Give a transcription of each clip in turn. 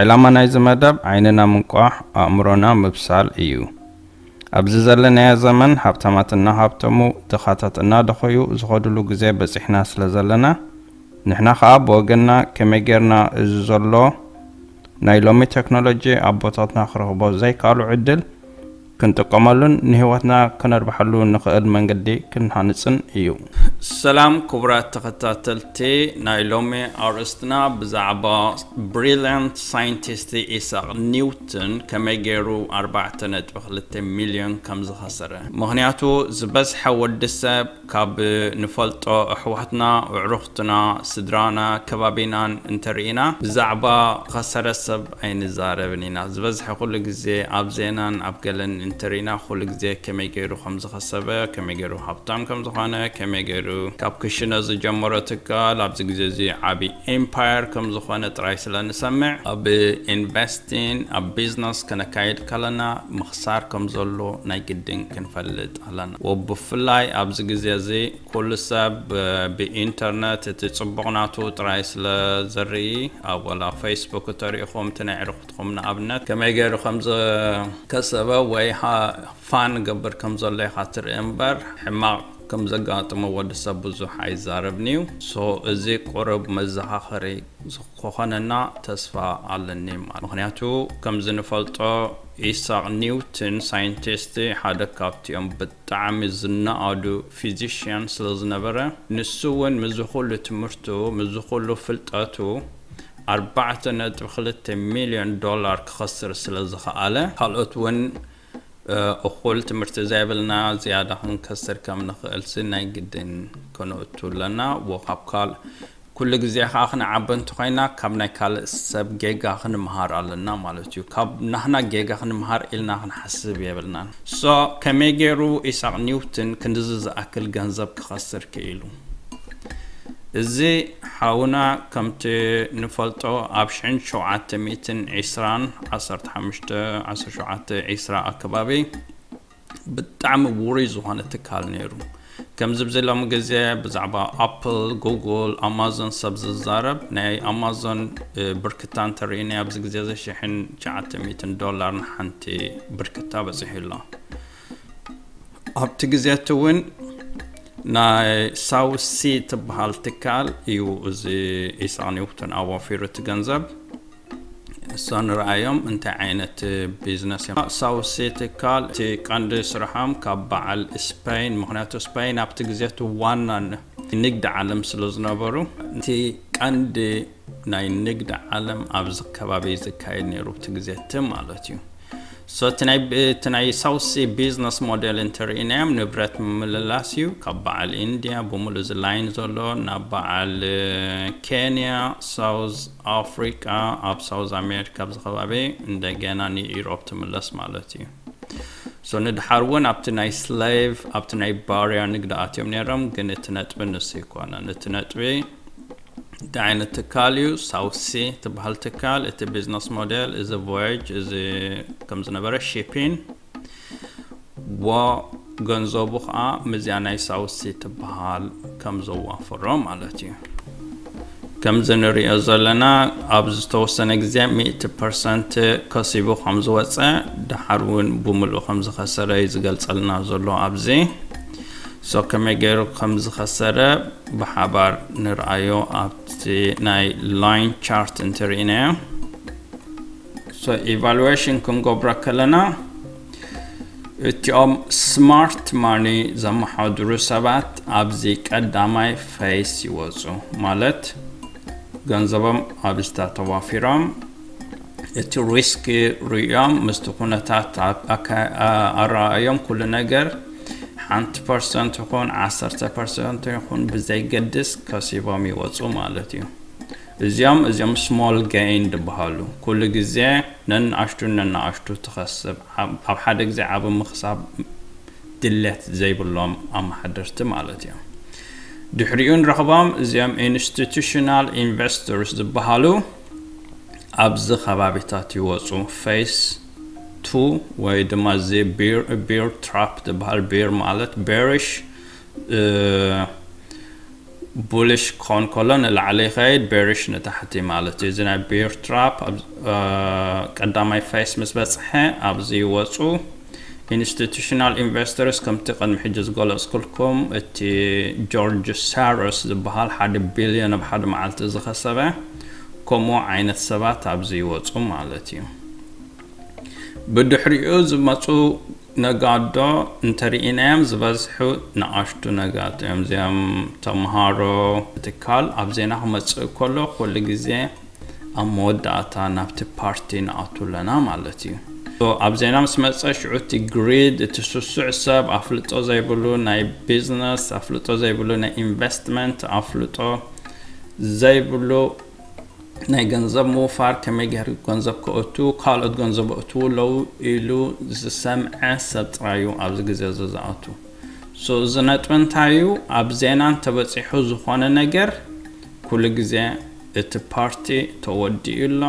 ዕላማ ናይዚ መደብ ዓይንና ምንቋሕ፣ ኣእምሮና ምብሳል እዩ። ኣብዚ ዘለናዮ ዘመን ሃብታማት እናሃብተሙ፣ ድኻታት እናደኸዩ ዝኸድሉ ግዜ በጺሕና ስለ ዘለና፣ ንሕና ኸኣ ብወገንና ከመይ ጌርና እዚ ዘሎ ናይ ሎሚ ቴክኖሎጂ ኣቦታትና ክረኽቦ ዘይከኣሉ ዕድል ክንጥቀመሉን ንህይወትና ከነርብሓሉ ንኽእል መንገዲ ክንሃንጽን እዩ። ሰላም ክቡራት ተኸታተልቲ ናይ ሎሚ ኣርእስትና ብዛዕባ ብሪልያንት ሳይንቲስት ኢሳቕ ኒውትን ከመይ ገይሩ ኣርባዕተ ነጥቢ ክልተ ሚልዮን ከም ዝኸሰረ። ምኽንያቱ ዝበዝሐ ወዲ ሰብ ካብ ንፈልጦ ኣሕዋትና፣ ኣዕሩኽትና፣ ስድራና፣ ከባቢናን እንተርኢና ብዛዕባ ከሰረ ሰብ ኣይንዛረብን ኢና። ዝበዝሐ ኩሉ ግዜ ኣብ ዜናን ኣብ ገለን እንተርኢና ኩሉ ግዜ ከመይ ገይሩ ከም ዝኸሰበ፣ ከመይ ገይሩ ሃብታም ከም ዝኾነ፣ ከመይ ገይሩ ካብ ክሽነ ዝጀመሮ ትካል ኣብዚ ግዜ እዚ ዓቢ ኤምፓየር ከም ዝኾነ ጥራይ ስለ ንሰምዕ ኣብ ኢንቨስቲን ኣብ ቢዝነስ ከነካይድ ከለና ምኽሳር ከም ዘሎ ናይ ግድን ክንፈልጥ ኣለና። ወብፍላይ ኣብዚ ግዜ እዚ ኩሉ ሰብ ብኢንተርነት እቲ ጽቡቕ ናቱ ጥራይ ስለ ዘርኢ ኣብ ወላ ፌስቡክ እተሪእኹም እቲ ናይ ዕርኽትኹም ንኣብነት ከመይ ገይሩ ከም ዝከሰበ ወይ ፋን ገብር ከም ዘሎ ኢኻ ትርኢ እምበር ሕማቕ ከም ዘጋጥሞ ወዲ ሰብ ብዙሕ ኣይዛረብን እዩ። ሶ እዚ ቁሩብ መዘኻኸሪ ዝኾነና ተስፋ ኣለኒ ማለት። ምኽንያቱ ከምዚ ንፈልጦ ኢሳቕ ኒውትን ሳይንቲስት ሓደ ካብቲኦም ብጣዕሚ ዝነኣዱ ፊዚሽያን ስለ ዝነበረ ንሱ እውን ምዚ ኩሉ ትምህርቱ ምዚ ኩሉ ፍልጠቱ ኣርባዕተ ነጥቢ ክልተ ሚልዮን ዶላር ክኸስር ስለ ዝኸኣለ ካልኦት እውን እኹል ትምህርቲ ዘይብልና ዝያዳ ክንከስር ከም ንኽእልሲ ናይ ግድን ከነእቱ ኣለና። ወ ካብ ካል ኩሉ ግዜ ከዓ ክንዓቢ እንተኮይና ካብ ናይ ካልእ ሰብ ጌጋ ክንምሃር ኣለና ማለት እዩ። ካብ ናህና ጌጋ ክንምሃር ኢልና ክንሓስብ የብልናን። ሶ ከመይ ገይሩ ኢሳቅ ኒውትን ክንድዚ ዝኣክል ገንዘብ ክኸስር ክኢሉ? እዚ ሓውና ከምቲ ንፈልጦ ኣብ ሽሕን ሸውዓተ ሚእትን ዕስራን ዓሰርተ ሓሙሽተ ዓሰርተ ሸውዓተ ዕስራ ኣከባቢ ብጣዕሚ ውሩይ ዝኾነ ትካል ነይሩ። ከምዚ ብዚ ሎሚ ግዜ ብዛዕባ ኣፕል፣ ጉግል፣ ኣማዞን ሰብ ዝዛረብ ናይ ኣማዞን ብርክታ እንተርኢና ኣብዚ ግዜ እዚ ሽሕን ትሽዓተ ሚእትን ዶላር ንሓንቲ ብርክታ በፂሑ ኣሎ። ኣብቲ ግዜ እቲ እውን ናይ ሳውሲ ትበሃል ትካል እዩ እዚ ኢሳቅ ኒውተን ኣዋፊሩ እቲ ገንዘብ። እሶ ንርኣዮም እንታይ ዓይነት ቢዝነስ እዮም። ሳውሲ ትካል እቲ ቀንዲ ስርሖም ካብ በዓል ስፔን፣ ምክንያቱ ስፔን ኣብቲ ግዜ እቲ ዋና ንግዲ ዓለም ስለ ዝነበሩ እቲ ቀንዲ ናይ ንግዲ ዓለም ኣብዚ ከባቢ ዝካየድ ነይሩ እቲ ግዜ እቲ ማለት እዩ። ሶ እቲ ናይ ሳውሲ ቢዝነስ ሞዴል እንተርኢናዮም ንብረት ምምልላስ እዩ። ካብ በዓል ኢንድያ ብምሉእ እዚ ላይን ዘሎ ናብ በዓል ኬንያ፣ ሳውዝ ኣፍሪቃ፣ ኣብ ሳውዝ ኣሜሪካ ኣብዚ ከባቢ እንደገና ንኢሮፕ ትምለስ ማለት እዩ። ሶ ንድሓር እውን ኣብቲ ናይ ስሌቭ ኣብቲ ናይ ባርያ ንግዲ ኣትዮም ነይሮም፣ ግን እቲ ነጥቢ ንሱ ኣይኮነን። እቲ ነጥቢ እንታይ ዓይነት ትካል እዩ? ሳውሲ ትበሃል ትካል። እቲ ቢዝነስ ሞዴል እዚ ቮያጅ እዚ ከም ዝነበረ ሺፒን ወ ገንዘቡ ከዓ ምዚኣ ናይ ሳውሲ ትበሃል ከም ዘዋፈሮ ማለት እዩ። ከምዚ ንሪኦ ዘለና ኣብ ዝተወሰነ ግዜ ሚእቲ ፐርሰንት ከሲቡ ከም ዝወፀ ድሓር እውን ብምሉእ ከም ዝኸሰረ እዩ ዝገልፀልና ዘሎ ኣብዚ። ሶ ከመይ ገይሩ ከም ዝኸሰረ ብሓባር ንርኣዮ ኣብቲ ናይ ላይን ቻርት እንትርኢናዮ። ሶ ኢቫሉዌሽን ክንገብሮ ከለና እቲኦም ስማርት ማኒ ዘመሓድሩ ሰባት ኣብዚ ቀዳማይ ፌስ ይወፁ፣ ማለት ገንዘቦም ኣብዝታ ተዋፊሮም እቲ ሪስክ ርእዮም ምስቲ ኩነታት ኣረኣዮም ኩሉ ነገር ሓንቲ ፐርሰንት ይኹን ዓሰርተ ፐርሰንት ይኹን ብዘይገድስ ከሲቦም ይወፁ ማለት እዩ። እዚኦም እዚኦም ስሞል ገይን ዝበሃሉ ኩሉ ግዜ ነንኣሽቱ ነንኣሽቱ ትኸስብ ኣብ ሓደ ግዜ ዓቢ ምኽሳብ ድሌት ዘይብሎም ኣመሓደርቲ ማለት እዮም። ድሕሪኡ ንረኽቦም እዚኦም ኢንስቲቱሽናል ኢንቨስተርስ ዝበሃሉ ኣብዚ ከባቢታት ይወፁ። Phase two ወይ ድማ እዚ bear trap ዝበሃል፣ bear ማለት bearish፣ bullish ክኾን ከሎ ንላዕሊ ይኸይድ፣ bearish ንታሕቲ ማለት እዩ። እዚ ናይ bear trap ቀዳማይ phase ምስ በፅሐ ኣብዚ ይወፁ። Institutional investors፣ ከምቲ ቅድሚ ሕጂ ዝገለፅኩልኩም፣ እቲ ጆርጅ ሳሮስ ዝበሃል ሓደ ቢልዮን ኣብ ሓደ መዓልቲ ዝኸሰበ፣ ከምኡ ዓይነት ሰባት ኣብዚ ይወፁ ማለት እዩ። ብድሕሪኡ ዝመፁ ነጋዶ እንተርኢናዮም ዝበዝሑ ንኣሽቱ ነጋዶ እዮም። እዚኦም ተምሃሮ ትካል ኣብ ዜና ክመፅእ ከሎ ኩሉ ግዜ ኣብ መወዳእታ ናብቲ ፓርቲ ንኣቱ ኣለና ማለት እዩ። ኣብ ዜና ምስ መፀ ሽዑ እቲ ግሪድ፣ እቲ ስሱዕ ሰብ፣ ኣፍልጦ ዘይብሉ ናይ ቢዝነስ ኣፍልጦ ዘይብሉ፣ ናይ ኢንቨስትመንት ኣፍልጦ ዘይብሉ፣ ናይ ገንዘብ ምውፋር፣ ከመይ ገይሩ ገንዘብ ከእቱ፣ ካልኦት ገንዘብ እእትዉ ኣለዉ ኢሉ ዝሰምዐ ሰብ ጥራይ እዩ ኣብዚ ግዜ እዚ ዝኣቱ። So እዚ ነጥቢ እንታይ እዩ? ኣብ ዜና እንተበፂሑ ዝኾነ ነገር ኩሉ ግዜ እቲ ፓርቲ ተወዲኡ ኣሎ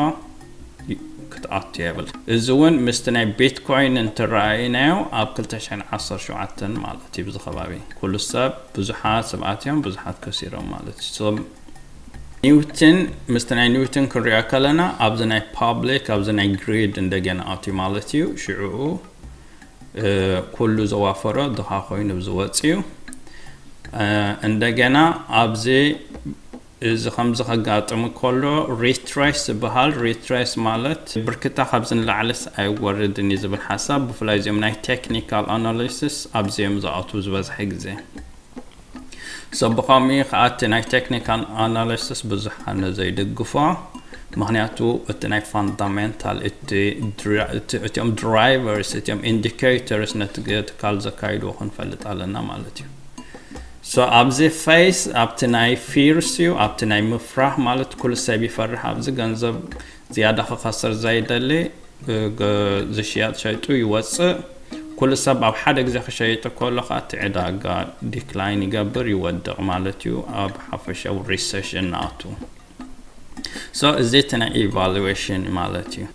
ክትኣቱ የብል። እዚ እውን ምስቲ ናይ ቢትኮይን እንትረኣይናዮ ኣብ ክልተ ሽሕን ዓሰርተ ሸውዓተን ማለት እዩ። ብዚ ከባቢ ኩሉ ሰብ፣ ብዙሓት ሰባት እዮም ብዙሓት ከሲሮም ማለት እዩ። So ኒውትን ምስቲ ናይ ኒውትን ክንሪኦ ከለና ኣብዚ ናይ ፓብሊክ ኣብዚ ናይ ግሪድ እንደገና ኣትዩ ማለት እዩ። ሽዕኡ ኩሉ ዘዋፈሮ ድኻ ኮይኑ ዝወፅ እዩ። እንደገና ኣብዚ እዚ ከምዚ ከጋጥም ከሎ ሪትሬስ ዝበሃል፣ ሪትሬስ ማለት ብርክታ ካብዚ ንላዕልስ ኣይወርድን እዩ ዝብል ሓሳብ፣ ብፍላይ እዚኦም ናይ ቴክኒካል ኣናሊሲስ ኣብዚኦም ዝኣትዉ ዝበዝሐ ግዜ። So ብኸምኡ ከዓ እቲ ናይ ቴክኒካል ኣናሊሲስ ብዙሕ ኣነ ዘይድግፎ፣ ምክንያቱ እቲ ናይ ፋንዳሜንታል እቲኦም ድራይቨርስ እቲኦም ኢንዲኬተርስ ነቲ ትካል ዘካይድዎ ክንፈልጥ ኣለና ማለት እዩ። So ኣብዚ ፌስ ኣብቲ ናይ ፊርስ እዩ፣ ኣብቲ ናይ ምፍራህ ማለት ኩሉ ሰብ ይፈርሕ ኣብዚ ገንዘብ ዝያዳ ክኸስር ዘይደሊ ዝሽያጥ ሸይጡ ይወፅእ። ኩሉ ሰብ ኣብ ሓደ ግዜ ክሸይጥ ከሎ ከዓ እቲ ዕዳጋ ዲክላይን ይገብር ይወድቕ ማለት እዩ። ኣብ ሓፈሻዊ ሪሰሽን ንኣቱ። So እዚ እቲ ናይ ኢቫሉዌሽን ማለት እዩ።